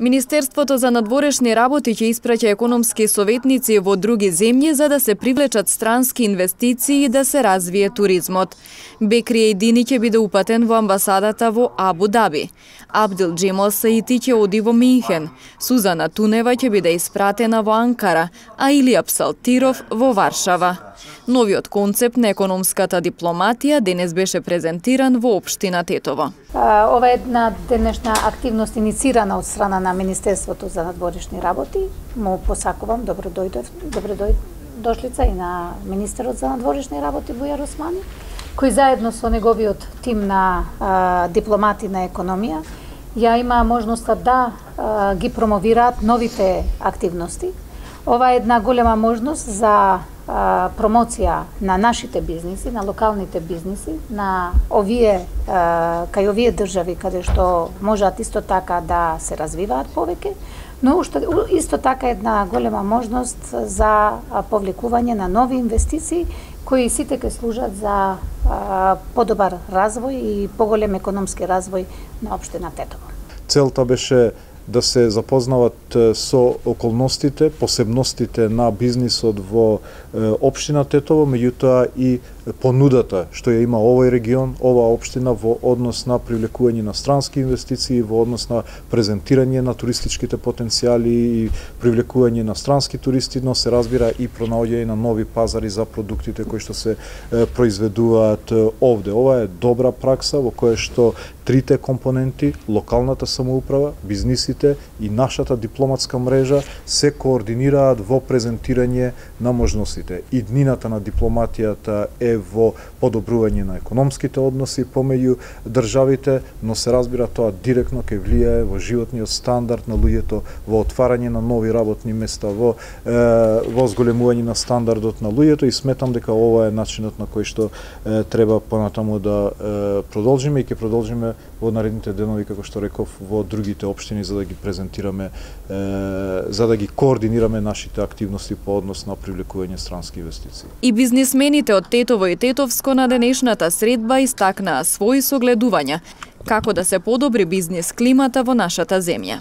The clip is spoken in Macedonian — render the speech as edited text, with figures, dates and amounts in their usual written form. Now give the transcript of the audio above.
Министерството за надворешни работи ќе испраќа економски советници во други земји за да се привлечат странски инвестиции и да се развие туризмот. Бекри Едини ќе биде упатен во амбасадата во Абу Даби. Абдил Джемал Саити ќе оди во Минхен. Сузана Тунева ќе биде испратена во Анкара, а Илија Псалтиров во Варшава. Новиот концепт на економската дипломатија денес беше презентиран во општина Тетово. Ова е една денешна активност иницирана од страна на Министерството за надворешни работи. Му посакувам добродошлица и на министерот за надворешни работи Бујар Османи, кој заедно со неговиот тим на дипломати на економија ја има можноста да ги промовираат новите активности. Ова е една голема можност за промоција на нашите бизниси, на локалните бизниси, на кај овие држави каде што можат исто така да се развиваат повеќе, но исто така една голема можност за повлекување на нови инвестиции кои сите ќе служат за подобар развој и поголем економски развој на општина Тетово. Целта беше да се запознават со околностите, посебностите на бизнисот во општина Тетово, меѓутоа и понудата што ја има овој регион, оваа општина во однос на привлекување на странски инвестиции, во однос на презентирање на туристичките потенцијали и привлекување на странски туристи, но се разбира и пронаоѓање на нови пазари за продуктите кои што се произведуваат овде. Ова е добра пракса во која што трите компоненти, локалната самоуправа, бизнисите и нашата дипломатска мрежа се координираат во презентирање на можностите. И днината на дипломатијата е во подобрување на економските односи помеѓу државите, но се разбира тоа директно ќе влијае во животниот стандард на луѓето, во отварање на нови работни места, во зголемување на стандардот на луѓето и сметам дека ова е начинот на кој што треба понатаму да продолжиме и ќе продолжиме во наредните денови, како што реков, во другите општини за да ги презентираме, за да ги координираме нашите активности по однос на привлекување странски инвестиции. И бизнисмените од Тетово и Тетовско на денешната средба истакнаа своји согледувања како да се подобри бизнис климата во нашата земја.